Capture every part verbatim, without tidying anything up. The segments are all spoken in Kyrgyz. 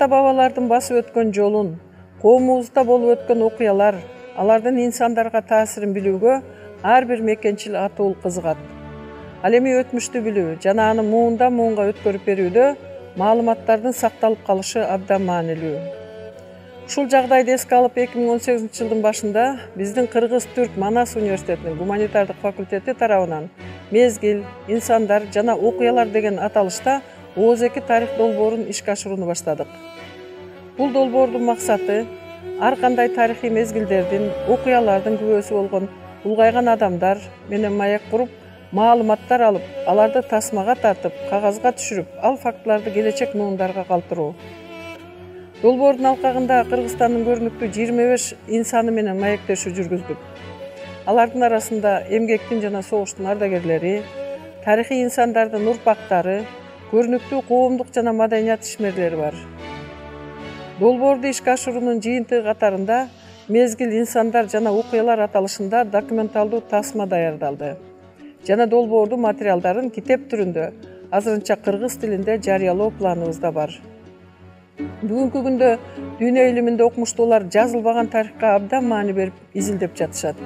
ата-бабалардын басып өткөн жолун, коомубузда болуп өткөн окуялар, алардын инсандарга таасирин билүүгө ар бир мекенчил атуул кызыгат. Ал эми өтмүштү билүү жана аны муундан муунга өткөрүп берүүдө маалыматтардын сакталып калышы абдан маанилүү. Ушул жагдайды эске алып эки миң он сегизинчи жылдын башында биздин Кыргыз-Түрк Манас университетинин гуманитардык факультети тарабынан мезгил, инсандар жана окуялар деген аталышта Ооз эки тарых долбоорун ишке ашырууну баштадык. Бул долбоордун максаты ар кандай тарыхый мезгилдердин, окуялардын күбөсү болгон улгайган адамдар менен маек куруп, маалыматтар алып, аларды тасмага тартып, кагазга түшүрүп, ал фактыларды келечек муундарга калтыруу. Долбоордун алкагында Кыргызстандын көрүнүктүү жыйырма беш инсаны менен маектешүү жүргүздүк. Алардын арасында эмгектин жана согуштун ардагерлери, тарыхый инсандардын урпактары, көрүнүктүү коомдук жана маданият ишмерлери бар. Долбоорду ишке ашыруунун жыйынтыгы катарында мезгил, инсандар жана окуялар аталышында документалдуу тасма даярдалды жана долбоордун материалдарын китеп түрүндө азырынча кыргыз тилинде жарыялоо планыбызда бар. Бүгүнкү күндө дүйнө илиминде окумуштуулар жазылбаган тарыхка абдан маани берип изилдеп жатышат.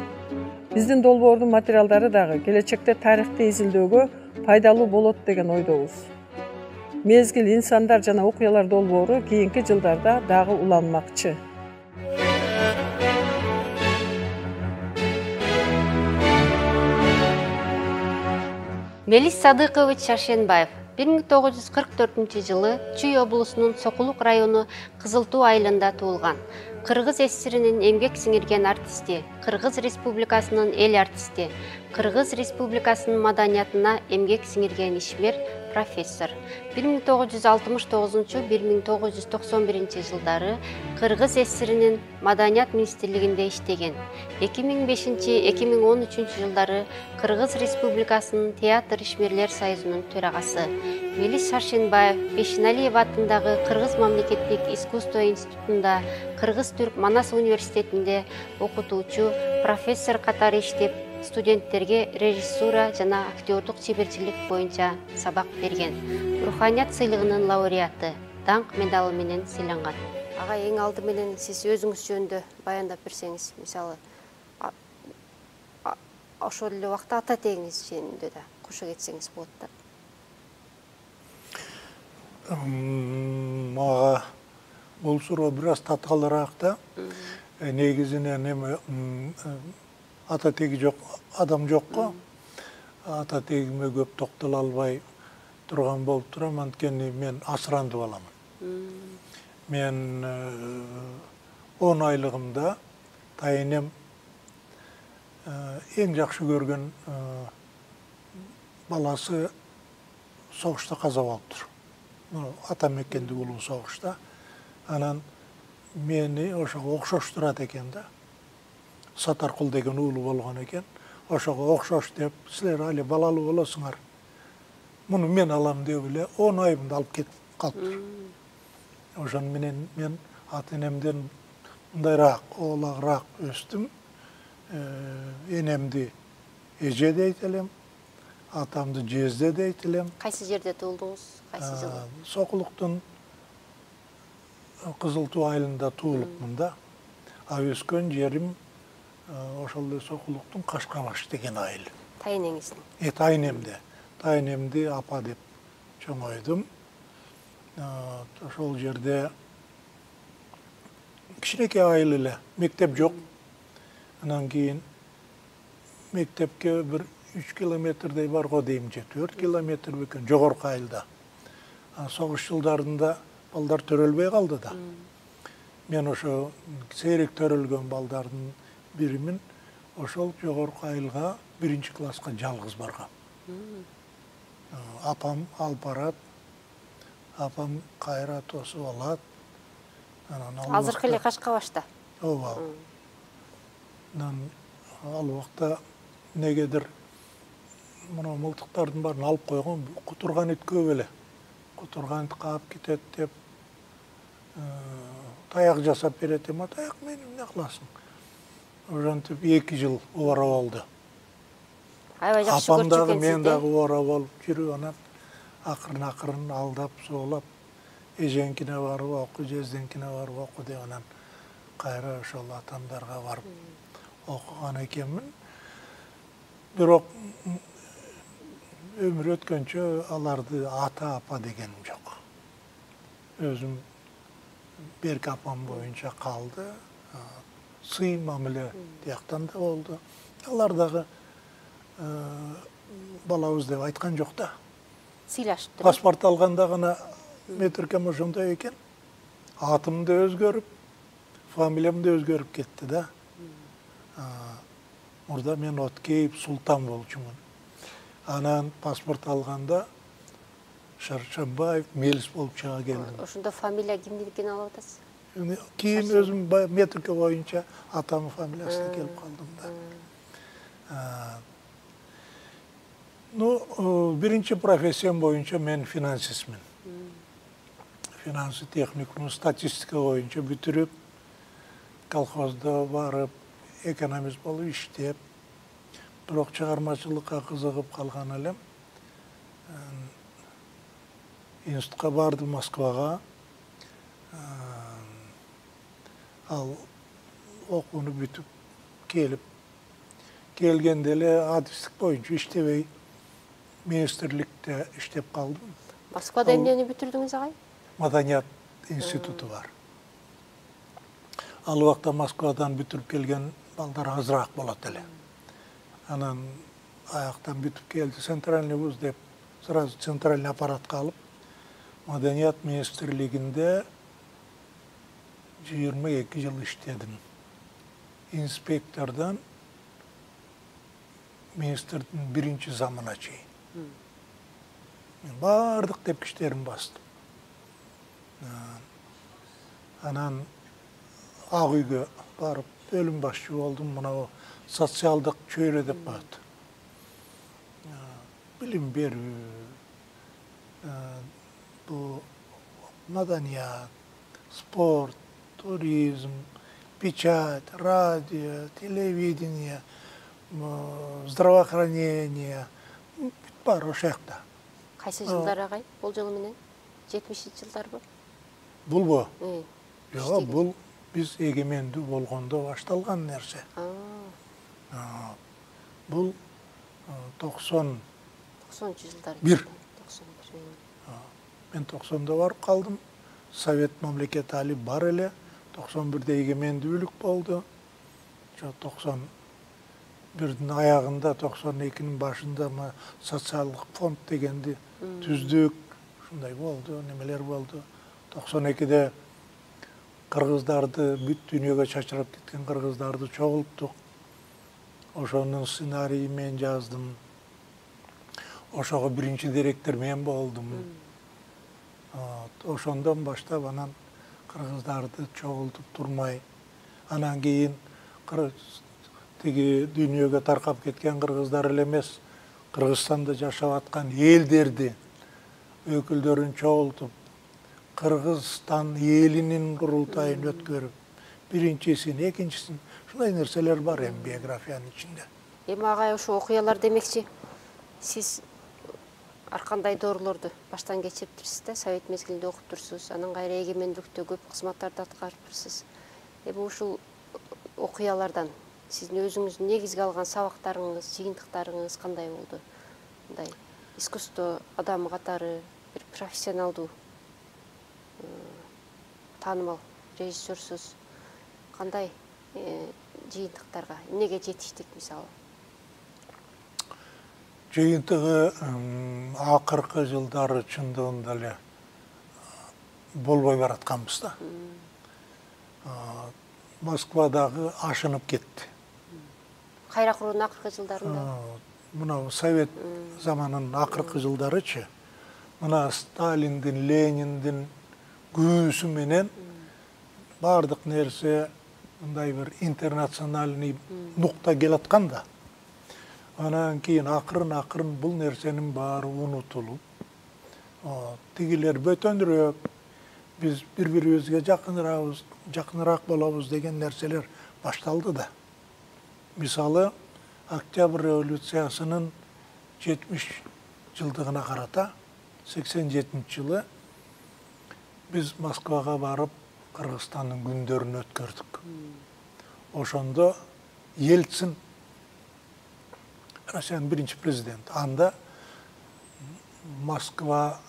Биздин долбоордун материалдары дагы келечекте тарыхты изилдөөгө пайдалуу болот деген ойдобуз. Мезгил, инсандар жана окуялар долбоору кийинки жылдарда дагы уланмакчы. Мелис Садыкович Шаршенбаев бир миң тогуз жүз кырк төртүнчү жылы Чүй облусунун Сокулук району Кызыл Туу айылында туулган. Кыргыз ССРинин эмгек сиңирген артисти, Кыргыз Республикасынын эл артисти, Кыргыз Республикасынын маданиятына эмгек сиңирген ишмер, профессор. бир миң тогуз жүз алтымыш тогузунчу — бир миң тогуз жүз токсон биринчи жылдары Кыргыз ССРинин Маданият министрлигинде иштеген. эки миң бешинчи — эки миң он үчүнчү жылдары Кыргыз Республикасынын Театр ишмерлер союзунун төрагасы. Мелис Шаршенбаев Бешеналиев атындагы Кыргыз мамлекеттик искусство институтунда, Кыргыз-Түрк Манас университетинде окутуучу, профессор катары иштеп, студенттерге режиссура жана актёрдук чеберчилик боюнча сабак берген. Руханият сыйлыгынын лауреаты, даңк медалы менен сыйланган. Ага, эң алды менен сиз өзүңүз жөнүндө баяндап берсеңиз, мисалы, ошол эле убакта ата тегиңиз жөнүндө да кошо кетсеңиз болот да. Мага бул суроо бир аз таткалыраак да. Негизинен эми ата теги жок адам жокко. Ата тегиме көп токтоло албай турган болуп турам, анткени мен асыранды баламын. Мен он айлыгымда тайынем эң жакшы көргөн баласы согушта каза болуптур. Ата мекенди улуу согушта. Анан мени ошого окшоштурат экен да. Сатаркул деген уулу болгон экен. Ошого окшош деп, силер али балалуу болосуңар, муну мен алам деп эле он айымды алып кетип калыптыр. Ошон менен мен ата энемден мындайраак, оолагыраак өстүм. Энемди эже дейт элем, атамды жезде дейт элем. Кайсы жерде туулдуңуз? Кайсы жылы? Сокулуктун Кызыл Туу айылында туулупмун да. А өскөн жерим ошол эле Сокулуктун Кашкабаш деген айыл. Тайынеңиздин? Э, тайынемде. Тайынемди апа деп чоңойдум. Ошол жерде кичинекей айыл эле, мектеп жок. Анан кийин мектепке бир үч километрдей барго дейм же, төрт километр бекен жогорку айылда. Согуш жылдарында балдар төрөлбөй калды да. Мен ошо сейрек төрөлгөн балдардын биримин. Ошол жогорку айылга биринчи класска жалгыз баргам. Апам алып барат, апам кайра тосуп алат. Азыркы эле Кашкабашта? Ооба. Анан ал убакта негедир мына мылтыктардын баарын алып койгон, кутурган ит көп эле. Кутурган ит каап кетет деп таяк жасап берет эми, таяк мени эмне кыласың? Ошентип эки жыл убара болду. Аябай жакшы көрчү экенсиз. Апам дагы, мен дагы убара болуп жүрүп, анан акырын акырын алдап, соолап эжеңкине барып оку, жездеңкине барып оку деп анан кайра ошол атамдарга барып окуган экенмин. Бирок өмүр өткөнчө аларды ата апа дегеним жок. Өзүм берки апам боюнча калды. Сый мамиле тияктан да болду. Алар дагы балабыз деп айткан жок да. Сыйлашыптыр. Паспорт алганда гана метиркем ошондой экен. Атым да өзгөрүп, фамилиям да өзгөрүп кетти да. Мурда мен Откеев Султан болчумун. Анан паспорт алганда Шаршанбаев Мелис болуп чыга келдим. Ошондо фамилия кимдикин алып атасыз? Кийин өзүм метрика боюнча атамын фамилиясына келип калдым да. Ну, биринчи профессиям боюнча мен финансистмин. Финансы техникумун статистика боюнча бүтүрүп, колхоздо барып, экономист болуп иштеп, бирок чыгармачылыкка кызыгып калган элем. Институтка бардым Москвага. Ал окууну бүтүп келип, келгенде эле адистик боюнча иштебей, министрликте иштеп калдым. Москвада эмнени бүтүрдүңүз агай? Маданият институту бар. Ал убакта Москвадан бүтүрүп келген балдар азыраак болот эле. Анан аяктан бүтүп келди, центральный вуз деп, сразу центральный аппаратка алып, Маданият министрлигинде жыйырма эки жыл иштедим. Инспектордон министрдин биринчи замына чейин. Мен бардык тепкичтерин бастым. Анан Ак үйгө барып бөлүм башчы болдум. Мына социалдык чөйрө деп коет. Билим берүү, бу маданият, спорт, туризм, печать, радио, телевидение, здравоохранение, бар ошол жакта. Кайсы жылдар агай? Болжолу менен жетимишинчи жылдарбы? Булбу? Жок, бул биз эгемендүү болгондо башталган нерсе. Бул токсон токсонунчу жылдар. бир. Мен токсондо барып калдым. Совет мамлекети али бар эле. токсон бирде эгемендүүлүк болду. токсон бирдин аягында, токсон экинин башында социалдык фонд дегенди түздүк. Ушундай болду, немелер болду. токсон экиде кыргыздарды, бүт дүйнөгө чачырап кеткен кыргыздарды чогулттук. Ошонун сценарийин мен жаздым. Ошого биринчи директор мен болдум. Ошондон баштап анан кыргыздарды чогултуп турмай, анан кийин тиги дүйнөгө таркап кеткен кыргыздар эле эмес, Кыргызстанда жашап аткан элдерди өкүлдөрүн чогултуп, Кыргызстан элинин курултайын өткөрүп, биринчисин, экинчисин, ушундай нерселер бар эми биографиянын ичинде. Эми агай ошо окуялар демекчи, сиз ар кандай доорулорду баштан кечириптирсиз да, совет мезгилинде окуп турсуз, анан кайра эгемендүүлүктө көп кызматтарды аткарыптырсыз. Эми ушул окуялардан сиздин өзүңүздүн негизге алган сабактарыңыз, жыйынтыктарыңыз кандай болду? Мындай искусство адамы катары бир профессионалдуу таанымал режиссерсуз, кандай жыйынтыктарга, эмнеге жетиштик мисалы? Жыйынтыгы акыркы жылдары чындыгында эле болбой баратканбыз да. Москвадагы ашынып кетти. Кайра куруунун акыркы жылдарында? Мына совет заманынын акыркы жылдарычы, мына Сталиндин, Лениндин күүсү менен бардык нерсе мындай бир интернациональный нукта келаткан да. Анан кийин акырын-акырын бул нерсенин баары унутулуп, тигилер бөтөнүрөөк, биз бири-бирибизге жакыныраак, жакыныраак болобуз деген нерселер башталды да. Мисалы, Октябрь революциясынын жетимиш жылдыгына карата, сексен жетинчи жылы Биз Москвага барып, Кыргызстандын күндөрүн өткөрдүк. Ошондо Ельцин, Россиянын биринчи президенти, анда Москва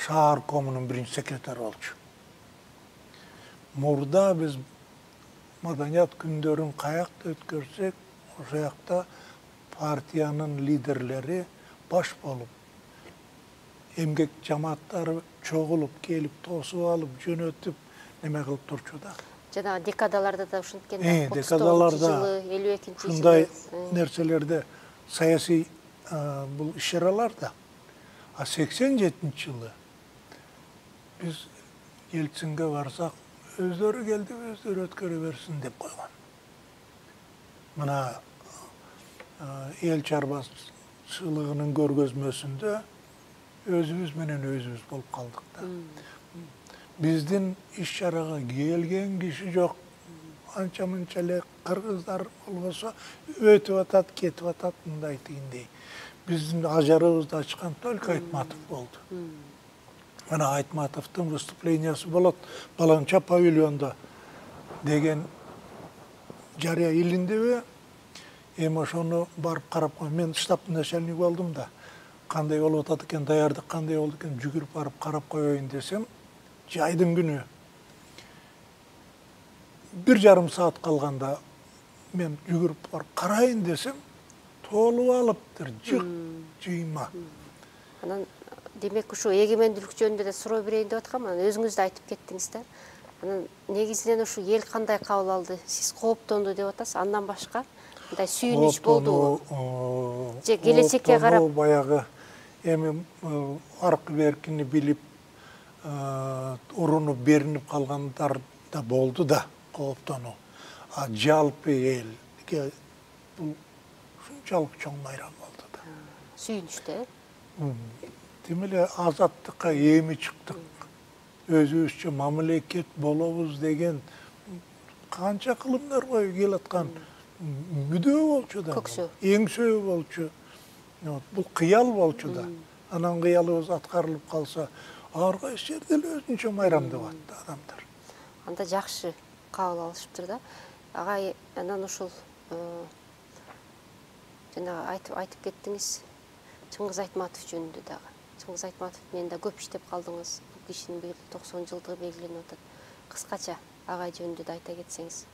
шаар комунун биринчи секретары болчу. Мурда биз маданият күндөрүн каякта өткөрсөк, ошол жакта партиянын лидерлери баш болуп, эмгек жамааттары чогулуп келип, тосуп алып, жөнөтүп, неме кылып турчу да. Жана декадаларда да ушинткен да, Э, декадаларда элүү экинчи жылы. ушундай нерселерде саясий бул иш-чараларда. А сексен жетинчи жылы биз Ельцинге барсак, өздөрү келди, өздөрү өткөрө берсин деп койгон. Мына эл чарбачылыгынын көргөзмөсүндө өзүбүз менен өзүбүз болуп калдык да. Биздин иш-чарага келген киши жок. Анча мынча эле кыргыздар болбосо өтүп атат, кетип атат, мындай тигиндей. Биздин ажарыбызды ачкан только Айтматов болду. Мына Айтматовдун выступлениясы болот Баланча павильонда деген жарыя илиндеби? Эми ошону барып карап, мен штабтын начальниги болдум да. Кандай болуп атат экен, даярдык кандай болду экен, жүгүрүп барып карап коеюн десем, жайдын күнү бир жарым саат калганда мен жүгүрүп барып карайын десем, толуп алыптыр, жык жыйма. Анан демек ушу эгемендүүлүк жөнүндө да суроо берейин деп аткам. Анан өзүңүз да айтып кеттиңиз да. Анан негизинен ушу эл кандай кабыл алды? Сиз кооптонду деп атасыз. Андан башка мындай сүйүнүч болдубу? Же келечекке карап баягы эми аркы беркини билип, урунуп беринип калгандар да болду да, кооптонуу. А жалпы элге бул ушунчалык чоң майрам болду да. Сүйүнүчтө. Тим эле азаттыкка эми чыктык. Өзүбүзчө мамлекет болобуз деген канча кылымдар бою келаткан мүдөө болчу да. Көксөө. Эңсөө болчу. Бул кыял болчу да. Анан кыялыбыз аткарылып калса, ар кайсы жерде эле өзүнчө майрамдап атты адамдар. Анда жакшы кабыл алышыптыр да. Агай, анан ушул жана айтып айтып кеттиңиз Чыңгыз Айтматов жөнүндө дагы. Чыңгыз Айтматов менен да көп иштеп калдыңыз. Бул кишинин быйыл токсон жылдыгы белгиленип атат. Кыскача агай жөнүндө да айта кетсеңиз.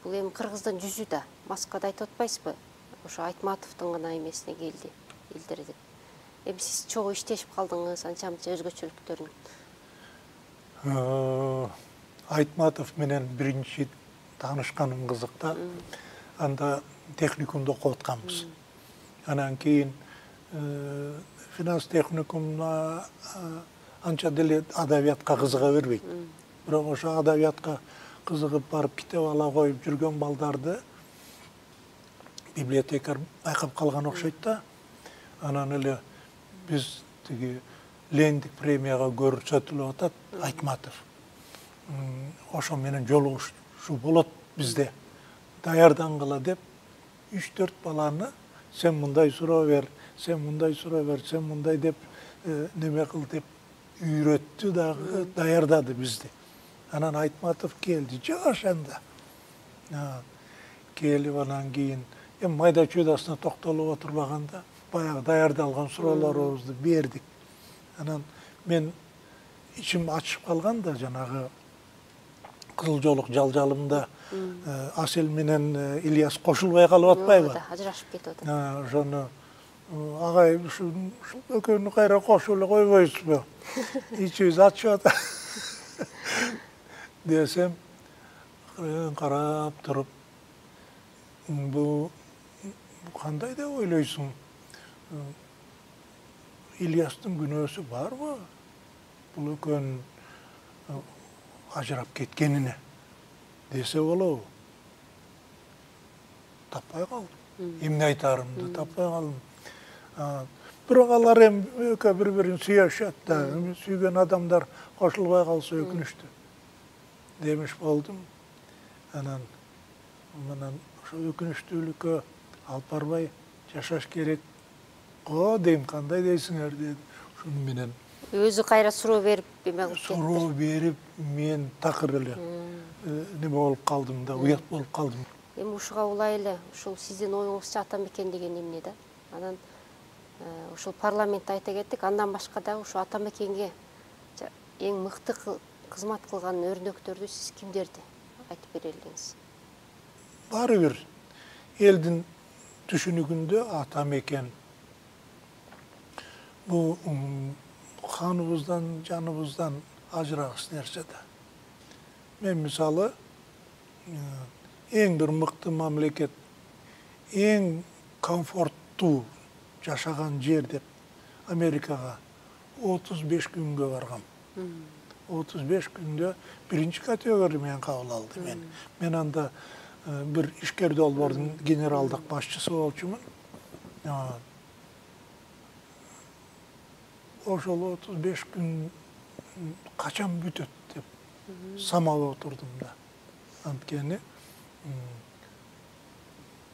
Бул эми Кыргыздын жүзү да, Москвада айтып атпайсызбы? Ошо Айтматовдун гана эмесине келди, илдирди. Эми сиз чогуу иштешип калдыңыз, анча-мынча өзгөчөлүктөрүн. Айтматов менен биринчи таанышканым кызык да. Анда техникумда окуп атканбыз. Анан кийин финанс техникумуна анча деле адабиятка кызыга бербейт. Бирок ошо адабиятка кызыгып барып китеп ала коюп жүргөн балдарды библиотекарь байкап калган окшойт да. Анан эле биз тиги Лениндик премияга көрсөтүлүп атат Айтматов. Ошо менен жолугушуу болот бизде. Даярдангыла деп үч төрт баланы сен мындай суроо бер, сен мындай суроо бер, сен мындай деп неме кыл деп үйрөттү дагы, даярдады бизди. Анан Айтматов келди, жаш анда. Келип анан кийин эми майда чүйдасына токтолуп отурбаганда баягы даярдалган суроолорубузду бердик. Анан мен ичим ачышып калган да, жанагы Кызыл Жоолук жалжалымда Асел менен Ильяс кошулбай калып атпайбы? Ажырашып кетип атат. Ошону агай ушул экөөнү кайра кошуп эле койбойсузбу? Ичибиз ачып атат. Десем, карап туруп, бу кандай деп ойлойсуң? Ильястын күнөөсү барбы? Бул экөөнүн ажырап кеткенине десе болобу? Таппай калдым. Эмне айтарымды таппай калдым. Бирок алар эми экөө бири-бирин сүйүшөт да, сүйгөн адамдар кошулбай калса өкүнүчтүү. Демиш болдум. Анан мынан ошо өкүнүчтүүлүккө алып барбай жашаш керек го дейм, кандай дейсиңер деди. Ошону менен өзү кайра суроо берип эме кылып кетти. Суроо берип мен такыр эле неме болуп калдым да, уят болуп калдым. Эми ушуга улай эле ушул сиздин оюңузча ата мекен деген эмне да? Анан ушул парламентте айта кеттик, андан башка дагы ушу ата мекенге эң мыкты кызмат кылган өрнөктөрдү сиз кимдерди айтып бере элеңиз? Баары бир элдин түшүнүгүндө ата мекен бул каныбыздан, жаныбыздан ажырагыс нерсе да. Мен мисалы эң бир мыкты мамлекет, эң комфорттуу жашаган жер деп Америкага отуз беш күнгө баргам. отуз беш күндө биринчи категория менен кабыл алды мен. Мен анда бир ишкер долбоордун генералдык башчысы болчумун. Ошол отуз беш күн качан бүтөт деп самалап отурдум да. Анткени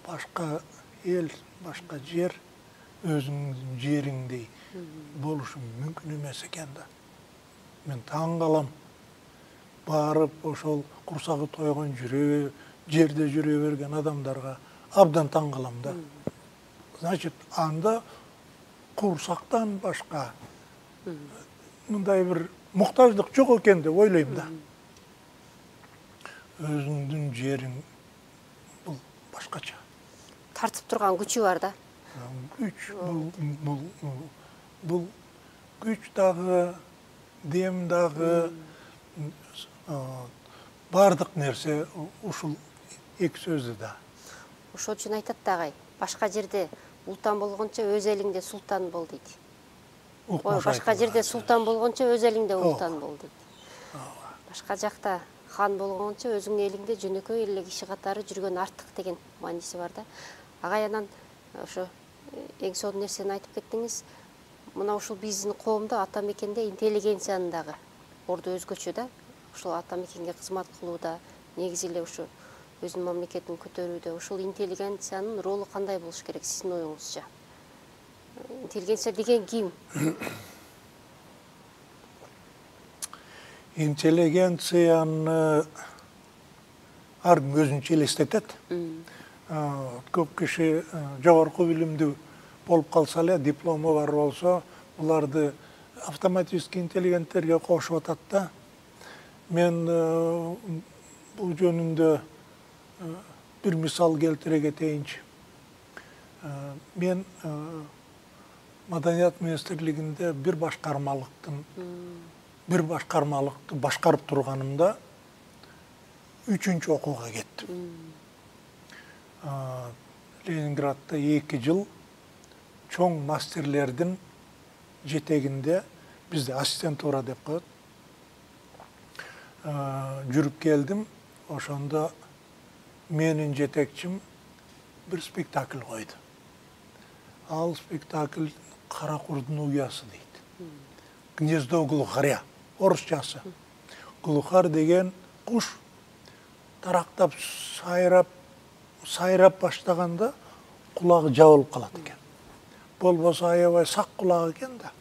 башка эл, башка жер өзүңүздүн жериңдей болушу мүмкүн эмес экен да. Мен таң калам. Барып ошол курсагы тойгон жүрө, жерде жүрө берген адамдарга абдан таң калам да. Значит, анда курсактан башка мындай бир муктаждык жок экен деп ойлойм да. Өзүңдүн жериң бул башкача. Тартып турган күчү бар да. Күч бул бул күч дагы, дем дагы, бардык нерсе ушул эки сөздү да. Ошол үчүн айтат дагы, башка жерде ултан болгончо өз элиңде султан бол дейт. Ой, башка жерде султан болгончо өз элиңде ултан бол дейт. Башка жакта хан болгончо өзүңдүн элиңде жөнөкөй эле киши катары жүргөн артык деген мааниси бар да. Агай анан ошо эң сонун нерсени айтып кеттиңиз. Мына ушул биздин коомдо ата мекенде интеллигенциянын дагы орду өзгөчө да. Ушул ата мекенге кызмат кылууда, негизи эле ушу өзүнүн мамлекетин көтөрүүдө ушул интеллигенциянын ролу кандай болуш керек сиздин оюңузча? Интеллигенция деген ким? Интеллигенцияны ар ким өзүнчө элестетет. Көп киши жогорку билимдүү болуп калса эле, диплому бар болсо, буларды автоматически интеллигенттерге кошуп атат да. Мен бул жөнүндө бир мисал келтире кетейинчи. Мен Маданият министрлигинде бир башкармалыктын бир башкармалыкты башкарып турганымда үчүнчү окууга кеттим. Ленинградда эки жыл чоң мастерлердин жетегинде, бизде ассистентура деп коет, жүрүп келдим. Ошондо менин жетекчим бир спектакль койду. Ал спектакль Кара курдун уясы дейт. Гнездо глухаря, орусчасы. Глухар деген куш тарактап сайрап, сайрап баштаганда кулагы жабылып калат экен. Болбосо аябай сак кулак экен да.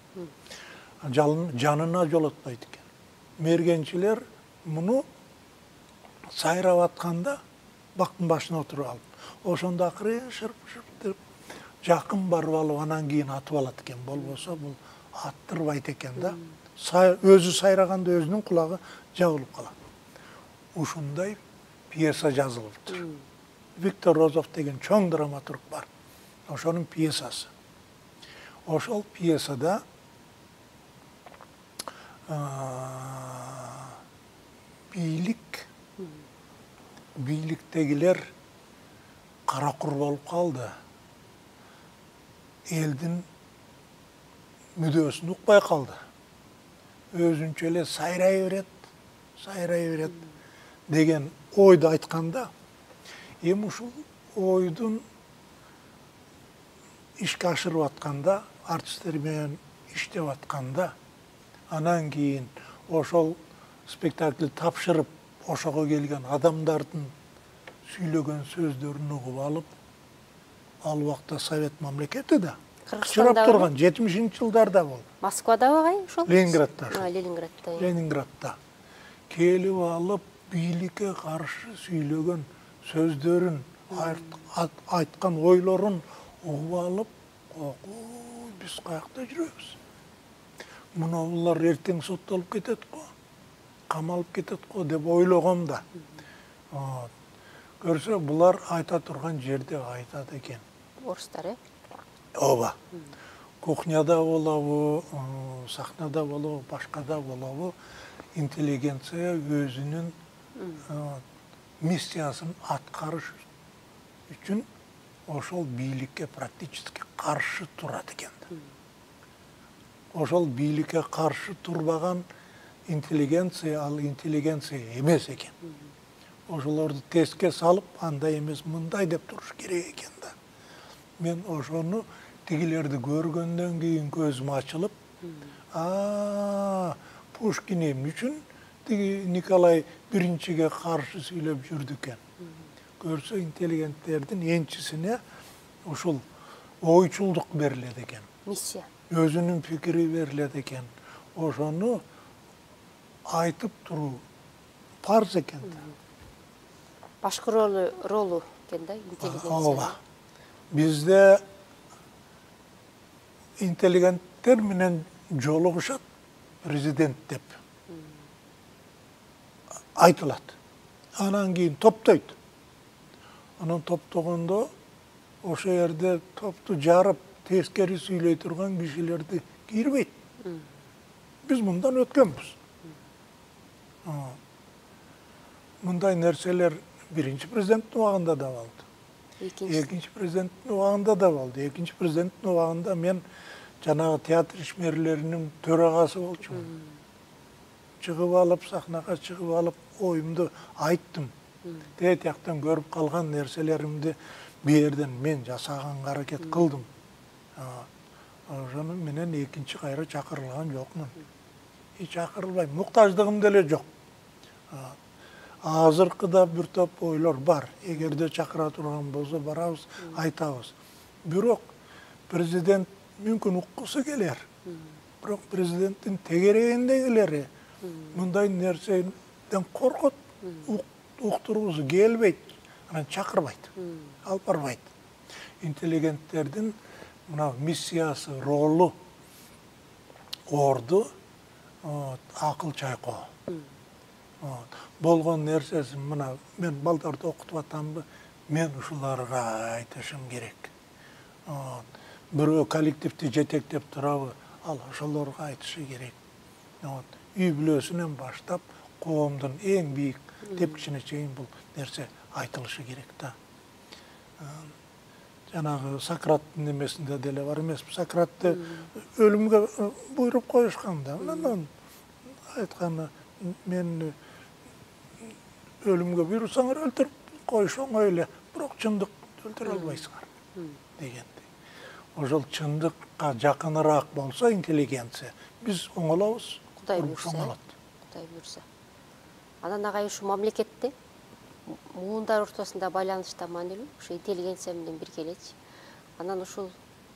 Жанына жолотпойт экен. Мергенчилер муну сайрап атканда бактын башына отуруп алып, ошондо акырын шырп-шырп деп жакын барып алып, анан кийин атып алат экен. Болбосо бул аттырбайт экен да. Өзү сайраганда өзүнүн кулагы жабылып калат. Ушундай пьеса жазылыптыр. Виктор Розов деген чоң драматург бар. Ошонун пьесасы. Ошол пьесада бийлик, бийликтегилер кара кур болуп калды. Элдин мүдөөсүн укпай калды. Өзүнчө эле сайрай берет, сайрай берет деген ойду айтканда, эми ушул ойдун ишке ашырып атканда, артисттер менен иштеп атканда, анан кийин ошол спектакль тапшырып, ошого келген адамдардын сүйлөгөн сөздөрүн угуп алып, ал убакта Совет мамлекети да, кычырап турган жетимишинчи жылдарда болду. Москвадабы кай ошол? Ленинградда. Ленинградда. Ленинградда. Келип алып бийликке каршы сүйлөгөн сөздөрүн, айткан ойлорун угуп алып, ой, биз каякта жүрөбүз? Мына булар эртең соттолуп кетет го, камалып кетет го деп ойлогом да. Көрсө, булар айта турган жерде айтат экен. Орустар, э? Ооба. Кухняда болобу, сахнада болобу, башкада болобу, интеллигенция өзүнүн миссиясын аткарыш үчүн ошол бийликке практически каршы турат экен. Ошол бийликке каршы турбаган интеллигенция ал интеллигенция эмес экен. Ошолорду теске салып, андай эмес, мындай деп туруш керек экен да. Мен ошону тигилерди көргөндөн кийин көзүм ачылып, а Пушкин эмне үчүн тиги Николай биринчиге каршы сүйлөп жүрдү экен. Көрсө, интеллигенттердин энчисине ушул ойчулдук берилет экен. Миссия. Өзүнүн пикири берилет экен. Ошону айтып туруу парз экен да. Башкы ролу ролу экен да интеллигенция. Ооба. Бизде интеллигенттер менен жолугушат президент деп айтылат. Анан кийин топтойт. Анан топтогондо ошо жерде топту жарып, тескери сүйлөй турган кишилерди кирбейт. Биз мындан өткөнбүз. Мындай нерселер биринчи президенттин убагында да болду. Экинчи президенттин убагында да болду. Экинчи президенттин убагында мен жанагы театр ишмерлеринин төрагасы болчумун. Чыгып алып, сахнага чыгып алып, оюмду айттым. Тээ тияктан көрүп калган нерселеримди бу жерден мен жасаганга аракет кылдым. Ошону менен экинчи кайра чакырылган жокмун. И чакырылбайм, муктаждыгым деле жок. Азыркыда бир топ ойлор бар. Эгерде чакыра турган болсо барабыз, айтабыз. Бирок президент мүмкүн уккусу келер. Бирок президенттин тегерегиндегилери мындай нерседен коркот, уктургусу келбейт, анан чакырбайт, алып барбайт. Интеллигенттердин мына миссиясы, ролу, орду акыл чайкоо. Болгон нерсесин мына мен балдарды окутуп атамбы, мен ушуларга айтышым керек. Бирөө коллективди жетектеп турабы, ал ошолорго айтышы керек. Үй бүлөсүнөн баштап, коомдун эң бийик тепкичине чейин бул нерсе айтылышы керек да. Жанагы Сократтын немесинде деле бар эмеспи? Сократты өлүмгө буйруп коюшкан да. Анан айтканы, мен өлүмгө буйрусаңар өлтүрүп коюш оңой эле, бирок чындыкты өлтүрө албайсыңар дегендей. Ошол чындыкка жакыныраак болсо интеллигенция, биз оңолобуз. Кудай буйрса. Кудай буйрса. Анан агай ушу мамлекетте муундар ортосунда байланышта маанилүү, ушу интеллигенция менен бирге элечи. Анан ушул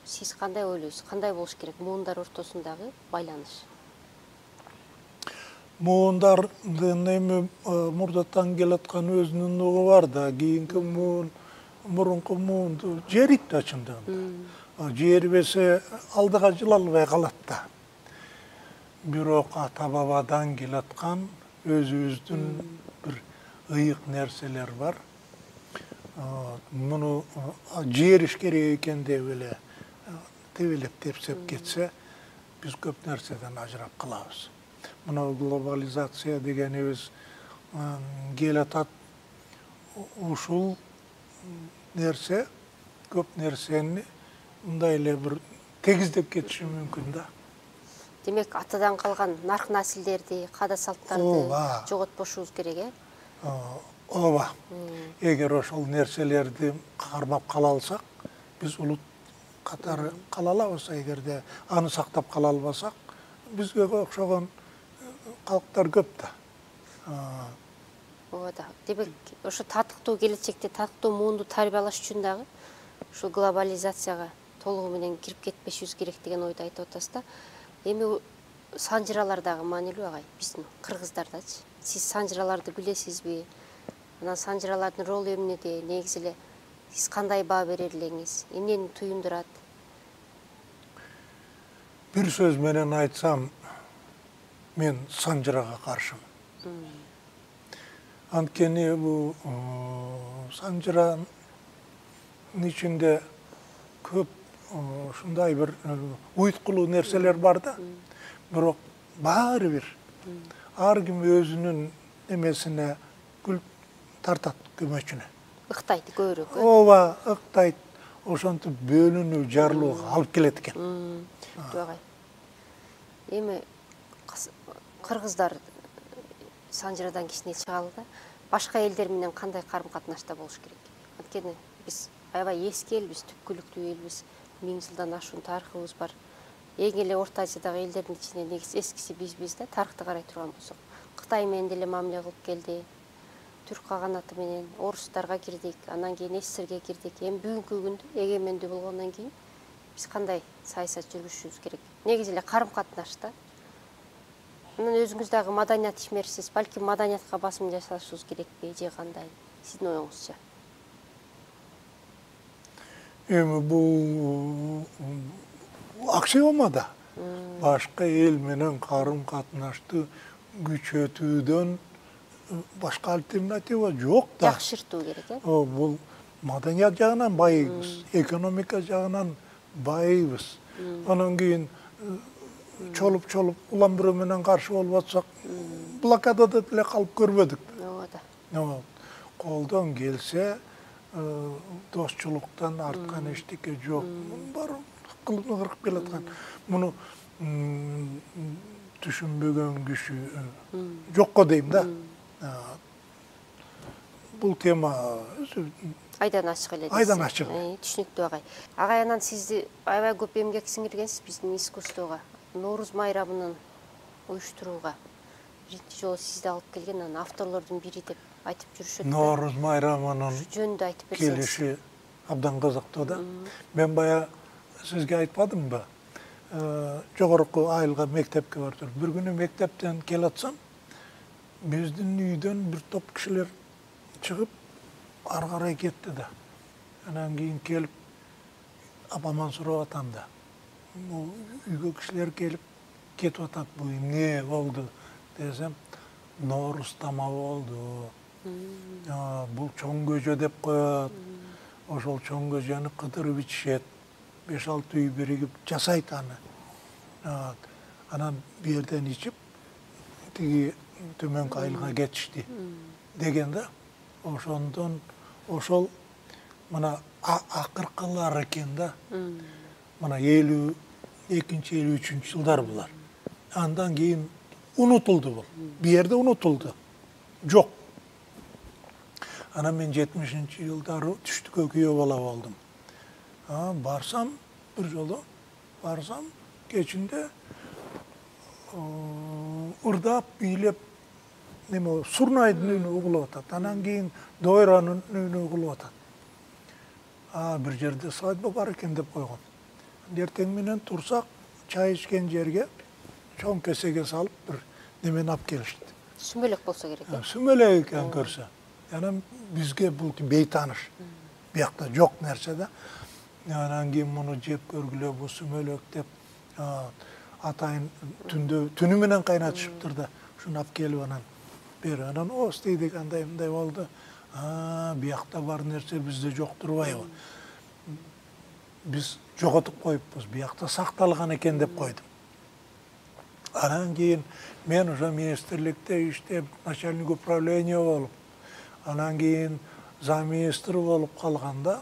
сиз кандай ойлойсуз? Кандай болуш керек муундар ортосундагы байланыш? Муундардын эми мурдатан келаткан өзүнүн угу бар да, кийинки муун, мурунку муунду жерит да чындыгында. Жербесе алдыга жылалбай калат да. Бирок ата-бабадан келаткан өзүбүздүн бир ыйык нерселер бар. Муну жериш керек экен деп эле тебелеп тепсеп кетсе, биз көп нерседен ажырап калабыз. Мына глобализация дегенибиз келатат. Ушул нерсе көп нерсени мындай эле бир тегиздеп кетиши мүмкүн да. Демек, атадан калган нарк насилдерди, каада салттарды жоготпошубуз керек, э? Ооба. Эгер ошол нерселерди кармап кала алсак, биз улут катары кала алабыз. Эгерде аны сактап кала албасак, бизге окшогон калктар көп да. Ооба да. Демек, ошо татыктуу келечекте татыктуу муунду тарбиялаш үчүн дагы ушул глобализацияга толугу менен кирип кетпешибиз керек деген ойду айтып атасыз да. Эми санжыралар дагы маанилүү агай, биздин кыргыздардачы. Сиз санжыраларды билесизби? Анан санжыралардын ролу эмнеде? Негизи эле сиз кандай баа берер элеңиз? Эмнени туюндурат? Бир сөз менен айтсам, мен санжырага каршымын. Анткени бул санжыранын ичинде көп ушундай бир уйткулуу нерселер бар да. Бирок баары бир ар ким өзүнүн эмесине күл тартат көмөчүнө. Ыктайт көбүрөөк. Ооба, ыктайт. Ошентип бөлүнүү, жарылууга алып келет экен. Агай. Эми кыргыздар санжырадан кичине чыгалы да. Башка элдер менен кандай карым-катнашта болуш керек? Анткени биз аябай эски элбиз, түпкүлүктүү элбиз. Миң жылдан ашуун тарыхыбыз бар. Эң эле Орто Азиядагы элдердин ичинде негизи эскиси бизбиз да, тарыхты карай турган болсок. Кытай менен деле мамиле кылып келди. Түрк каганаты менен орустарга кирдик, анан кийин СССРге кирдик. Эми бүгүнкү күндө эгемендүү болгондон кийин биз кандай саясат жүргүзүшүбүз керек? Негизи эле карым-катнашта. Анан өзүңүз дагы маданият ишмерисиз, балким маданиятка басым жасашыбыз керекпи же кандай? Сиздин оюңузча. Эми бул аксиома да. Башка эл менен карым-катнашты күчөтүүдөн башка альтернатива жок да. Жакшыртуу керек, э? Бул маданият жагынан байыбыз, экономика жагынан байыбыз. Анан кийин чолуп-чолуп улам бирөө менен каршы болуп атсак, блокадада деле калып көрбөдүк. Ооба да. Колдон келсе, достчулуктан арткан эчтеке жок. Бар кылып кырып келаткан. Муну түшүнбөгөн киши жокко дейм да. Бул тема айдан ачык эле. Айдан ачык. Түшүнүктүү агай. Агай, анан сизди аябай көп эмгек сиңиргенсиз биздин искусствого, Нооруз майрамынын уюштурууга. Биринчи жолу сизди алып келген анан авторлордун бири деп айтып жүрүшөт. Нооруз майрамынын жөнүндө айтып берсеңиз. Келиши абдан кызыктуу да. Мен бая сизге айтпадымбы? Жогорку айылга мектепке бардым. Бир күнү мектептен келатсам, биздин үйдөн бир топ кишилер чыгып ары карай кетти да. Анан кийин келип апаман сурап атам да. Үйгө кишилер келип кетип атат, бул эмне болду десем, Нооруз тамагы болду. Бул чоң көжө деп коет. Ошол чоң көжөнү кыдырып ичишет. беш алты үй биригип жасайт аны. Анан бу жерден ичип, тиги төмөнкү айылга кетишти деген да. Ошондон ошол мына акыркылар экен да. Мына элүү экинчи элүү үчүнчү жылдар булар. Андан кийин унутулду бул. Бу жерде унутулду. Жок. Анан мен жетимишинчи жылдары түштүккө күйөө бала болдум. Барсам, бир жолу барсам, кечинде ырдап, бийлеп, неме, Сурнайдын үнү угулуп атат. Анан кийин Дойранын үнү угулуп атат. Бир жерде свадьба бар экен деп койгон. Эртең менен турсак, чай ичкен жерге чоң кесеге салып бир немени алып келишти. Сүмөлөк болсо керек. Сүмөлөк экен көрсө. Анан бизге бул бейтаныш. Биякта жок нерсе да. Анан кийин муну жеп көргүлө, бул сүмөлөк деп атайын түндө түнү менен кайнатышыптыр да. Шуну алып келип анан бер. Анан о стейди кандай мындай болду. Биякта бар нерсе бизде жок турбайбы? Биз жоготуп коюппуз. Биякта сакталган экен деп койдум. Анан кийин мен ошо министрликте иштеп, начальник управления болуп, анан кийин замминистр болуп калганда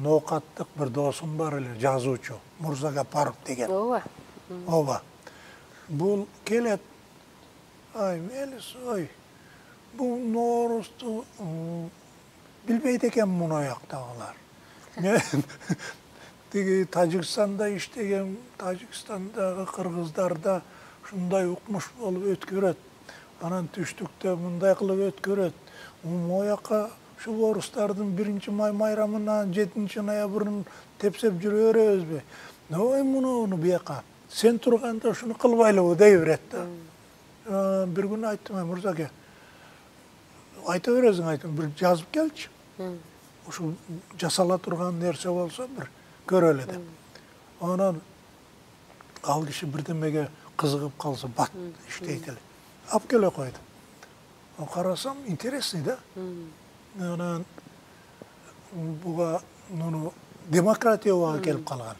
ноокаттык бир досум бар эле, жазуучу, Мурзагапаров деген. Ооба. Ооба. Бул келет. Ай, Мелис, ой. Бул Ноорузду билбейт экен муну жактагылар. Мен тиги Тажикстанда иштеген, Тажикстандагы кыргыздарда ушундай укмуш болуп өткөрөт. Анан түштүктө мындай кылып өткөрөт. Могу жака Şu orustardın birinci may mayramına жетинчи ноябрын tepsep жүрө беребизби? Noy muну onu buyaka. Sen turganda şunu kılbaylabı dey beretti. Bir gün ayttım, Murza aka, ayta beresiň aytım, bir жазып kelçi. Şu jasala turgan nerse bolsa bir göreli de. Ondan al kişi birdemege kızıgıp kalsa bat işteyt ele. Ap kele koydu. O karasam interesli de. Ondan buga nunu demokratiyaga kelip kalgan.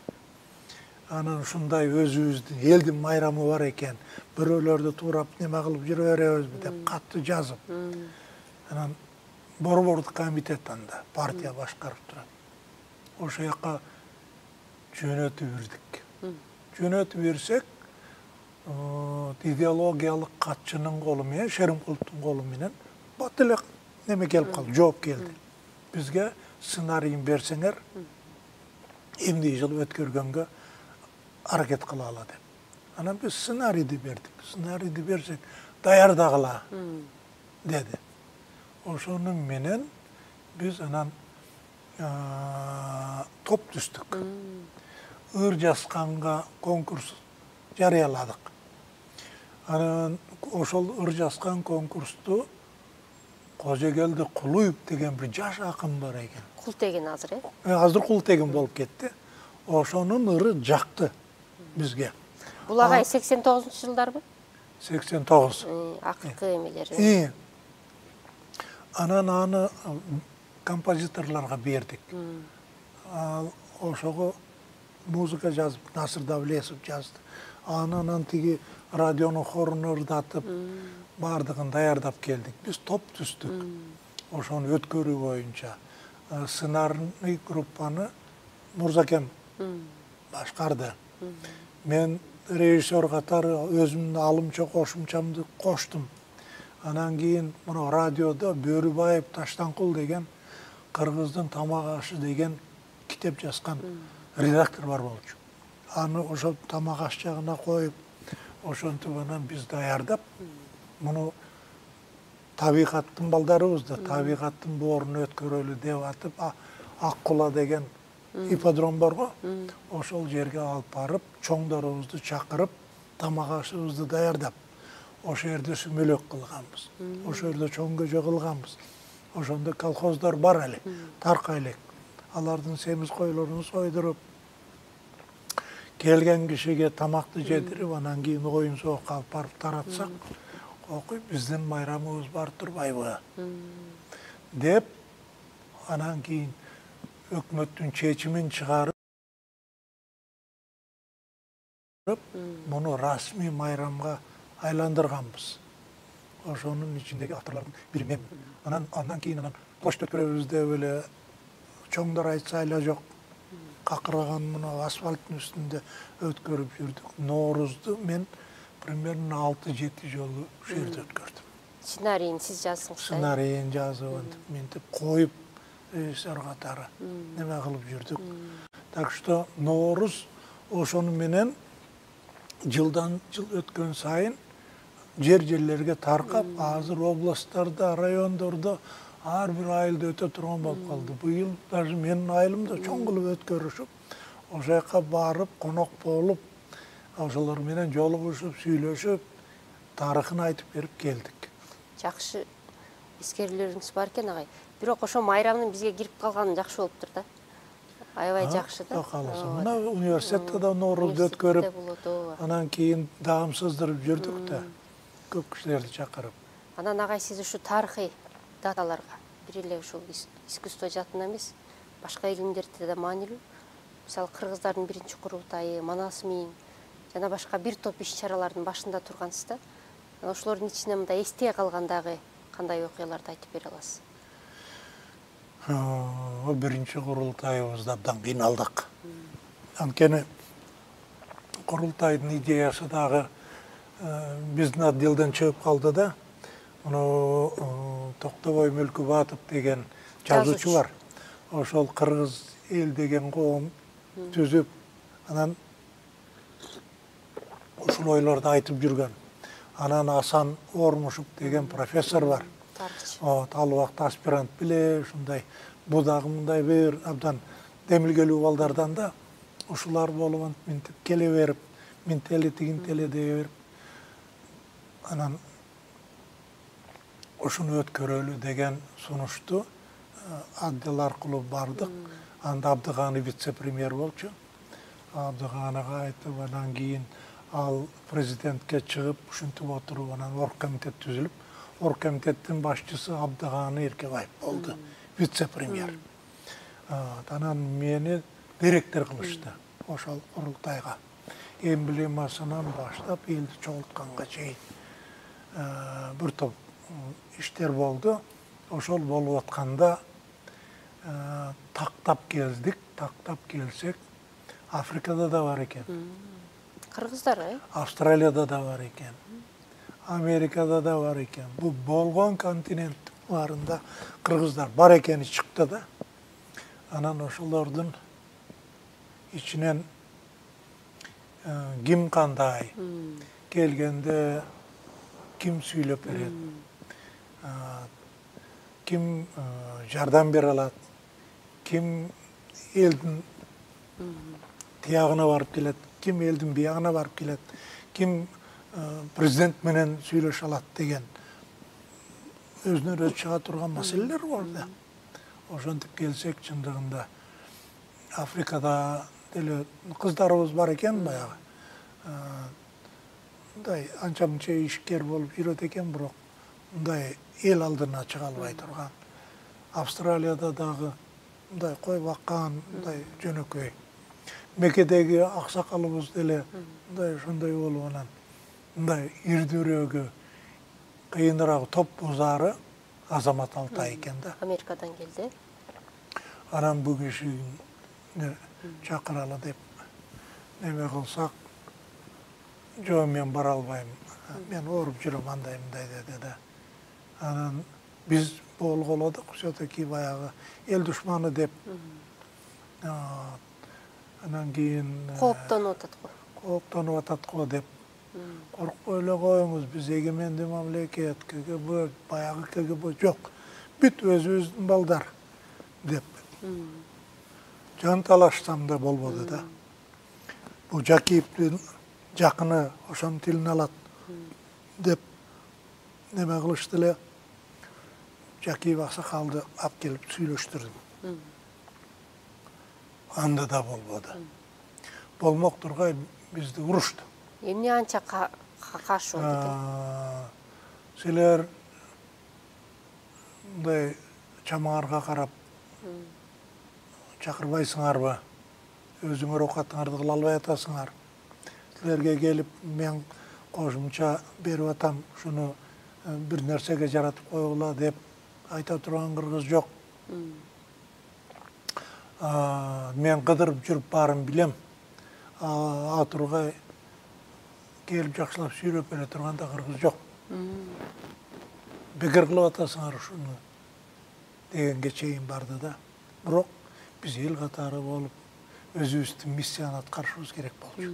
Anan şunday özübüzdün eldin mayramı var eken, biröөлөрдү tuurap neme kılıp жүрө беребизби деп katты жазып. Anan Борбордук комитеттен да партия башкарып турат. Ошол жака жөнөтүп бердик. Жөнөтүп берсек, идеологиялык катчынын колу менен, Шеримкуловдун колу менен бат эле неме келип калды, жооп келди. Бизге сценарийин берсеңер, эмне жыл өткөргөнгө аракет кылалы деп. Анан биз сценарийди бердик. Сценарийди берсек, даярдагыла деди. Ошонун менен биз анан топ түстүк. Ыр жазганга конкурс жарыяладык. Анан ошол ыр жазган конкурсту Кожогелди Кулуев деген бир жаш акын бар экен. Култеген азыр, э? Азыр Култеген болуп кетти. Ошонун ыры жакты бизге. Бул агай сексен тогузунчу жылдарбы? сексен тогуз. Акыркы эмелери. Анан аны композиторлорго бердик. Ошого музыка жазып, Насыр Давлесов жазды. Анан тиги радионун хорун ырдатып, бардыгын даярдап келдик. Биз топ түстүк. Ошону өткөрүү боюнча сценарный группаны Мурзакем башкарды. Мен режиссер катары өзүмдүн алымча кошумчамды коштум. Анан кийин мына радиодо Бөрүбаев Таштанкул деген Кыргыздын тамак ашы деген китеп жазган редактор бар болчу. Аны ошо тамак аш жагына коюп, ошентип анан биз даярдап, муну табигаттын балдарыбызды, табигаттын боорун өткөрөлү деп атып, Аккула деген ипподром барго, ошол жерге алып барып, чоңдорубузду чакырып, тамак ашыбызды даярдап, ошол жерде сүмөлөк кылганбыз. Ошол жерде чоң көжө кылганбыз. Ошондо колхоздар бар эле, тарка элек. Алардын семиз койлорун сойдуруп, келген кишиге тамакты жедирип, анан кийин оюн соокко алып барып таратсак, окуй биздин майрамыбыз бар турбайбы деп, анан кийин өкмөттүн чечимин чыгарып, муну расмий майрамга айландырганбыз. Ошонун ичиндеги авторлордун бири мен. Анан андан кийин анан площадь өткөрөбүз деп эле чоңдор айтса айла жок. Какырган мына асфальттын үстүндө өткөрүп жүрдүк. Ноорузду мен примерно алты жети жолу ушул жерде өткөрдүм. Сценарийин сиз жаздыңыз. Сценарийин жазып, ментип коюп, режиссер катары неме кылып жүрдүк. Так что Норуз ошону менен жылдан жыл өткөн сайын жер-жерлерге таркап, азыр областтарда, райондордо ар бир айылда өтө турган болуп калды. Быйыл даже менин айылымда чоң кылып өткөрүшүп, ошол жака барып, конок болуп, ошолор менен жолугушуп, сүйлөшүп, тарыхын айтып берип келдик. Жакшы эскерүүлөрүңүз бар экен, агай. Бирок ошо майрамдын бизге кирип калганы жакшы болуптур да. Аябай жакшы да. Каласа, мына университетте да Ноорузду өткөрүп, анан кийин даамсыздырып жүрдүк да. Көп кишилерди чакырып. Анан агай сиз ушу тарыхый даталарга, бир эле ушул искусство жаатында эмес, башка илимдерде да маанилүү. Мисалы кыргыздардын биринчи курултайы, Манас миң жана башка бир топ иш-чаралардын башында тургансыз да. Ошолордун ичинен мындай эстее калгандагы кандай окуяларды айтып бере аласыз? О биринчи курултайыбызда абдан кыйналдык. Анткени курултайдын идеясы дагы биздин отделден чыгып калды да. Муну Токтобой Мүлкүбатов деген жазуучу бар. Ошол кыргыз эл деген коом түзүп, анан ушул ойлорду айтып жүргөн. Анан Асан Ормушев деген профессор бар. тарыхчы. Вот, ал убакта аспирант беле ушундай бу дагы мындай бир абдан демилгелүү балдардан да ушулар болуп антип мынтип келе берип, минтели тигинтели дей берип анан ушуну өткөрөлү деген сунушту отдел аркылуу бардык. Анда Абдыгааны вице-премьер болчу. Абдыгааныга айтып, анан кийин ал президентке чыгып, ушинтип отуруп, анан оргкомитет түзүлүп, оргкомитеттин башчысы Абдыгааны Эркебаев болду, вице-премьер. Анан мени директор кылышты ошол курултайга. Эмблемасынан баштап элди чогултканга чейин бир топ иштер болду. Ошол болуп атканда тактап келдик, тактап келсек, Африкада да бар экен. Кыргыздар, э? Австралияда да бар экен. Америкада да бар экен. Бул болгон континент баарында кыргыздар бар экени чыкты да. Анан ошолордун ичинен ким кандай келгенде ким сүйлөп берет, ким жардам бере алат, ким элдин тиягына барып келет, ким элдин биягына барып келет, ким президент менен сүйлөшө алат деген өзүнөн өзү чыга турган маселелер бар да. Ошентип келсек, чындыгында Африкада деле кыздарыбыз бар экен баягы. Мындай анча-мынча ишкер болуп жүрөт экен, бирок мындай эл алдына чыга албай турган. Австралияда дагы мындай кой баккан, мындай жөнөкөй. Мекедеги аксакалыбыз деле мындай ошондой болуп анан мындай ирдүүрөөгү, кыйыныраак топ бузары Азамат Алтай экен да. Америкадан келди. Анан бул кишини чакыралы деп неме кылсак, жок мен бара албайм, мен ооруп жүрөм, андай мындай деди да. Анан биз болголадык, все-таки баягы эл душманы деп. Анан кийин Кооптонуп атат го. Кооптонуп атат го деп. Коркпой эле коюңуз, биз эгемендүү мамлекет, КГБ, баягы КГБ жок. Бүт өзүбүздүн балдар деп. Жан талашсам да болбоду да. Бул Жакиевдин жакыны ошонун тилин алат деп неме кылышты эле. Жакиев аксакалды алып келип сүйлөштүрдүм. Анда да болбоду. Болмок тургай бизди урушту. Эмне анча каршы болду экен? Силер мындай чамаарга карап чакырбайсыңарбы? Өзүңөр оокатыңарды кыла албай атасыңар. Силерге келип мен кошумча берип атам, ушуну бир нерсеге жаратып койгула деп айта турган кыргыз жок. Мен кыдырып жүрүп баарын билем. А тургай келип жакшылап сүйлөп бере турган да кыргыз жок. Бекер кылып атасыңар ушуну дегенге чейин барды да. Бирок биз эл катары болуп өзүбүздүн миссияны аткарышыбыз керек болчу.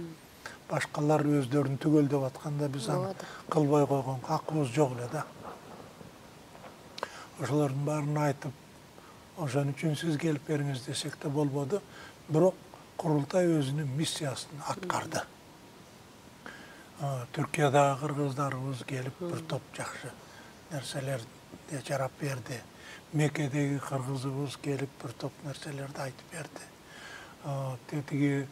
Башкалар өздөрүн түгөлдөп атканда биз аны кылбай койгон акыбыз жок эле да. Ошолордун баарын айтып, ошон үчүн сиз келип бериңиз десек да болбоду. Бирок курултай өзүнүн миссиясын аткарды. Түркиядагы кыргыздарыбыз келип бир топ жакшы нерселерди жарап берди. Мекедеги кыргызыбыз келип бир топ нерселерди айтып берди. Тетиги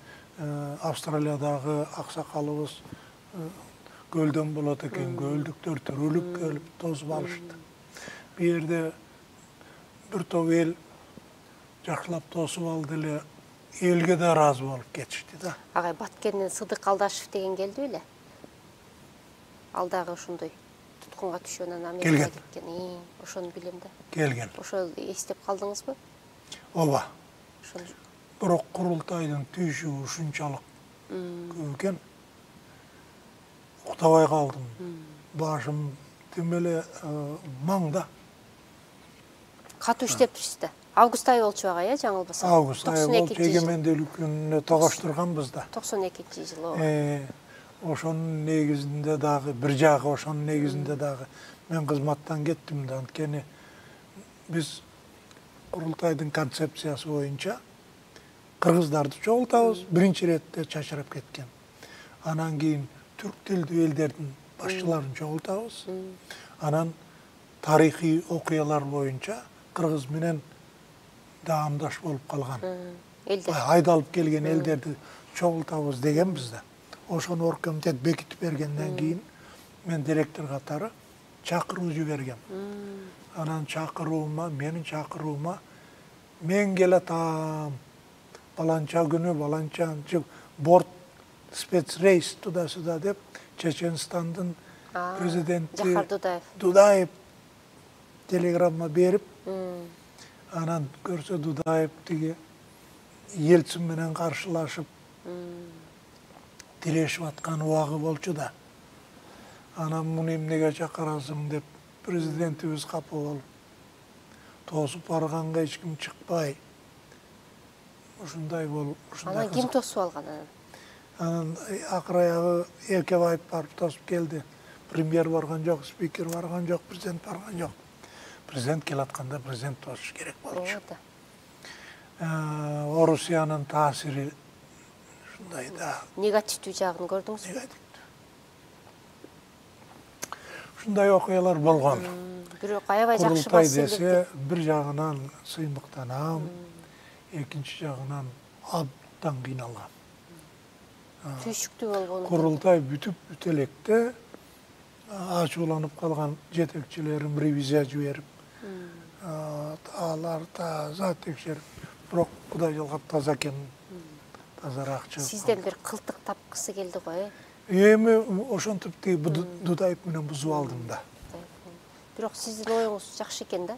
Австралиядагы аксакалыбыз көлдөн болот экен, көлдүктөр түрүлүп келип тосуп алышты. Бу жерде бир топ эл жакшылап тосуп алды эле, элге да ыраазы болуп кетишти да. Агай Баткенден Сыдык Алдашев деген келди беле? Ал дагы ошондой туткунга түшүп анан Америкага кеткен. Ошону билем да. Келген. Ошол эстеп калдыңызбы? Ооба. Ошону. Бирок курултайдын түйшүгү ушунчалык көп экен. Уктабай калдым. Башым тим эле маңда. Катуу иштептирсиз да. Август айы болчу ага, э, жаңылбасам. Август айы болчу, эгемендүүлүк күнүнө тогоштурганбыз да. токсон экинчи жылы. Ошонун негизинде дагы бир жагы ошонун негизинде дагы мен кызматтан кеттим да, анткени биз курултайдын концепциясы боюнча кыргыздарды чогултабыз, биринчи иретте чачырап кеткен. Анан кийин түрк тилдүү элдердин башчыларын чогултабыз. Анан тарыхый окуялар боюнча кыргыз менен даамдаш болуп калган айдалып келген элдерди чогултабыз дегенбиз да. Ошону оргкомитет бекитип бергенден кийин мен директор катары чакыруу жибергем. Анан чакыруума, менин чакыруума мен келатам, баланча күнү, баланча борт спецрейс туда-сюда деп Чеченстандын президенти Жахар Дудаев Дудаев телеграмма берип, анан көрсө Дудаев тиги Ельцин менен каршылашып тирешип аткан убагы болчу да. Анан муну эмнеге чакырасың деп президентибиз капа болуп, тосуп барганга эч ким чыкпай. Ушундай болуп, ушундай. Анан ким тосуп алган анан? Анан акыр аягы Эркебаев барып тосуп келди. Премьер барган жок, спикер барган жок, президент барган жок. Президент келатканда президент тосуш керек болчу. Орусиянын таасири ушундай да. Негативдүү жагын көрдүңүз? Негативдүү. Ушундай окуялар болгон. Бирок аябай жакшы Курултай десе, бир жагынан сыймыктанам, экинчи жагынан абдан кыйналгам. Түйшүктүү болгон. Курултай бүтүп бүтө электе ачууланып калган жетекчилерим ревизия жиберип, алар таза текшерип, бирок Кудай жалгап таза экен, тазараак чыгып. Сизден бир кылтык тапкысы келди го, э? Эми ошентип тиги Дудаев менен бузуп алдым да. Бирок сиздин оюңуз жакшы экен да.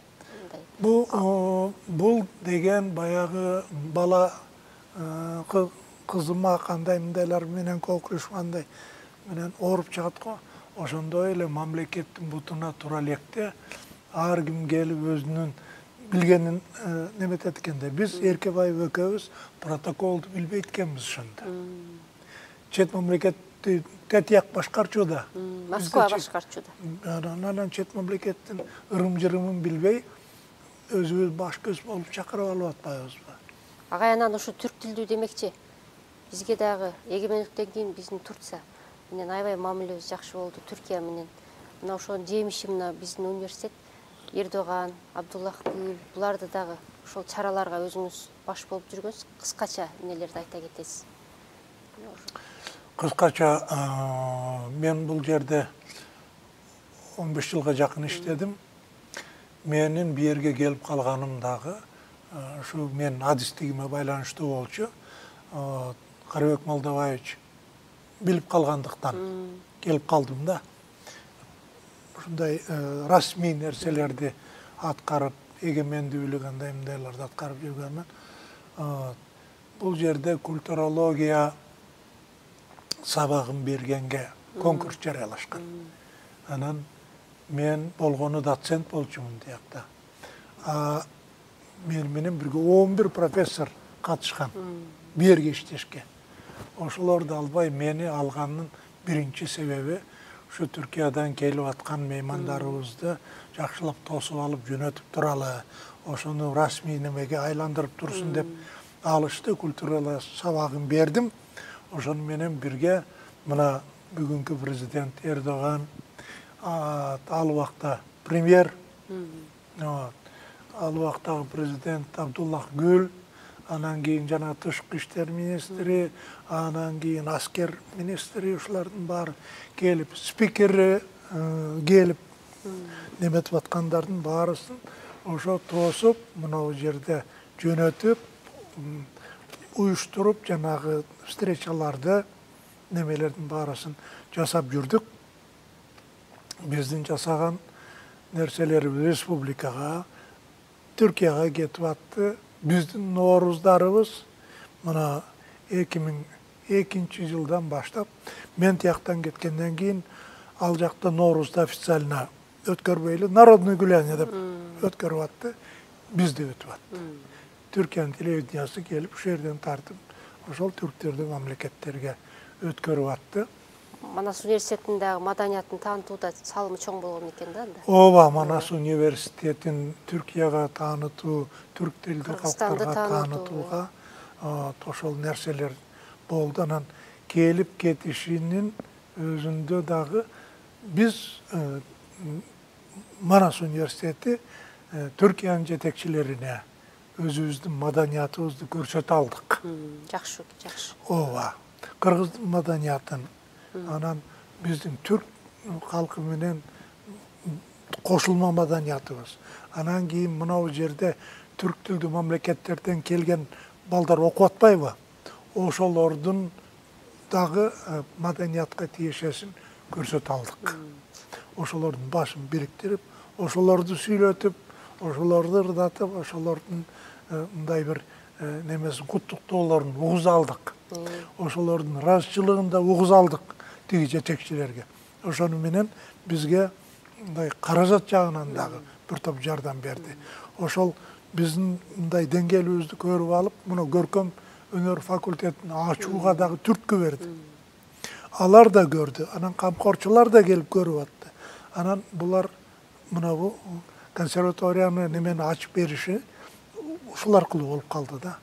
Бул бул деген баягы бала кызыма кандай мындайлар менен кокурушкандай менен ооруп чыгат го. Ошондой эле мамлекеттин бутуна тура электе ар ким келип өзүнүн билгенин неметет экенде. Биз Эркебаев экөөбүз протоколду билбейт экенбиз ошондо. Чет мамлекетти тетияк башкарчу да. Москва башкарчу да. Анан чет мамлекеттин ырым-жырымын билбей өзүбүз баш көз болуп чакырып алып атпайбызбы? Агай анан ушу түрк тилдүү демекчи. Бизге дагы эгемендиктен кийин биздин Турция менен аябай мамилебиз жакшы болду, Түркия менен. Мына ошонун жемиши мына биздин университет Эрдоган, Абдуллах Гүл, буларды дагы ошол чараларга өзүңүз баш болуп жүргөнсүз. Кыскача эмнелерди айта кетесиз? Кыскача мен бул жерде он беш жылга жакын иштедим. Менин бу жерге келип калганым дагы ушу мен адистигиме байланыштуу болчу. Карабек Молдобаевич билип калгандыктан келип калдым да. Ушундай расмий нерселерди аткарып, эгемендүүлүк андай мындайларды аткарып жүргөнмүн. Бул жерде культурология сабагын бергенге конкурс жарыялашкан. Анан мен болгону доцент болчумун тиякта. Мен менен бирге он бир профессор катышкан бу жерге иштешке. Ошолорду албай мени алганын биринчи себеби ушу Түркиядан келип аткан меймандарыбызды жакшылап тосуп алып жөнөтүп туралы, ошону расмий немеге айландырып турсун деп алышты. Культуралык сабагын бердим. Ошону менен бирге мына бүгүнкү президент Эрдоган, ал убакта премьер, ал убактагы президент Абдуллах Гүл, анан кийин жана тышкы иштер министри, анан кийин аскер министри, ушулардын баары келип, спикери келип, неметип аткандардын баарысын ошо тосуп, мына жерде жөнөтүп, уюштуруп, жанагы встречаларды, немелердин баарысын жасап жүрдүк. Биздин жасаган нерселерибиз республикага, Түркияга кетип атты. Биздин нооруздарыбыз мына эки миң экинчи жылдан баштап, мен тияктан кеткенден кийин ал жакта ноорузду официально өткөрбөйлү, народный гуляние деп өткөрүп атты. Бизде өтүп атты. Түркиянын телевидениясы келип, ушул жерден тартып, ошол түрктөрдүн мамлекеттерге өткөрүп атты. Манас университетиндеги маданиятын таанытууда салымы чоң болгон экен да анда. Ооба, Манас университетин Түркияга таанытуу, түрк тилдүү калктарга таанытууга ошол нерселер болду. Анан келип кетишинин өзүндө дагы биз Манас университети Түркиянын жетекчилерине өзүбүздүн маданиятыбызды көрсөтө алдык. Жакшы, жакшы. Ооба, кыргыз маданиятын, анан биздин түрк калкы менен кошулма маданиятыбыз. Анан кийин мынау жерде түрк тилдүү мамлекеттерден келген балдар окуп атпайбы? Ошолордун дагы маданиятка тиешесин көрсөтө алдык. Ошолордун башын бириктирип, ошолорду сүйлөтүп, ошолорду ырдатып, ошолордун мындай бир немесин куттуктоолорун угуза алдык. Ошолордун ыраазычылыгын да угуза алдык тиги жетекчилерге. Ошону менен бизге мындай каражат жагынан дагы бир топ жардам берди. Ошол биздин мындай деңгээлибизди көрүп алып, мына көркөм өнөр факультетин ачууга дагы түрткү берди. Алар да көрдү, анан камкорчулар да келип көрүп атты. Анан булар мына бу консерваторияны немени ачып бериши ушул аркылуу болуп калды да.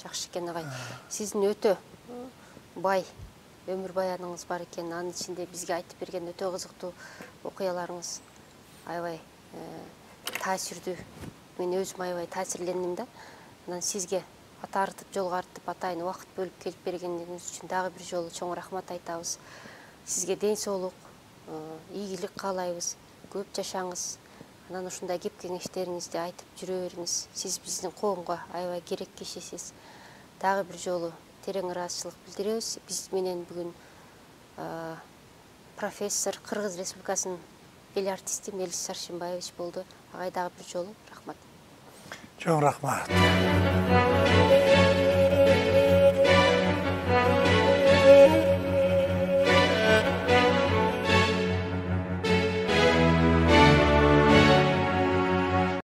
Жакшы экен агай. Сиздин өтө бай өмүр баяныңыз бар экен. Анын ичинде бизге айтып берген өтө кызыктуу окуяларыңыз аябай таасирдүү. Мен өзүм аябай таасирлендим да. Анан сизге ата артып, жолго артып, атайын убакыт бөлүп келип бергениңиз үчүн дагы бир жолу чоң рахмат айтабыз. Сизге ден соолук, ийгилик каалайбыз. Көп жашаңыз. Анан ушундай кеп кеңештериңизди айтып жүрө бериңиз. Сиз биздин коомго аябай керек кишисиз. Дагы бир жолу терең ыраазычылык билдиребиз. Биз менен бүгүн профессор, Кыргыз Республикасынын эл артисти Мелис Саршенбаевич болду. Агай дагы бир жолу рахмат. Чоң рахмат.